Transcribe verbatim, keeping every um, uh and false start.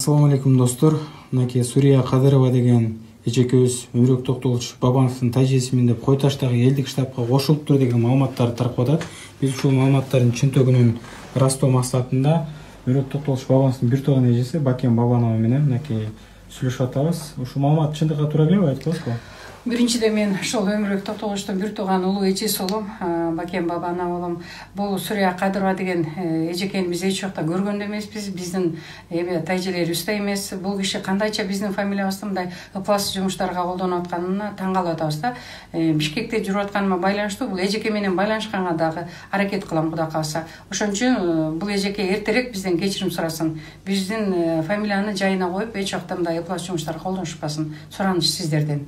Assalamu alaikum достор. Мынакей Сурия Кадырова деген эжекебиз Өмүрбек Токтогулович Бабановдун тажиесимин деп Кой Таштагы элдик штабка кошулуптур деген маалыматтарды таркап атат. Биз ушул маалыматтардын чынтөгүнүн ырастоо максатында Өмүрбек Токтогулович Бабановдун бир тууган эжеси Бакен Бабанова менен мынакей сүйлөшүп атабыз. Ушул маалымат чындыкка туура келеби, айтып коесузбу? Биринчиден мен ошол Өмүрбек Токтогуловичтун бир тууган улуу эжеси болом, Бакен Бабанова болом. Бул Сурия Кадырова деген эжекени биз эч жакта көргөн да эмеспиз. Биздин эме тажиелерибиз да эмес. Бул киши кандайча биздин фамилиябызды мындай ыплас жумуштарга колдонуп атканына таң калып атабыз да. Бишкекте жүрүп атканыма байланыштуу бул эжеке менен байланышканга дагы аракет кылам, Кудай кааласа. Ошон үчүн бул эжеке эртерээк бизден кечирим сурасын. Биздин фамилияны жайына коюп, эч жакта мындай ыплас жумуштарга колдонушпасын. Сураныч сиздерден.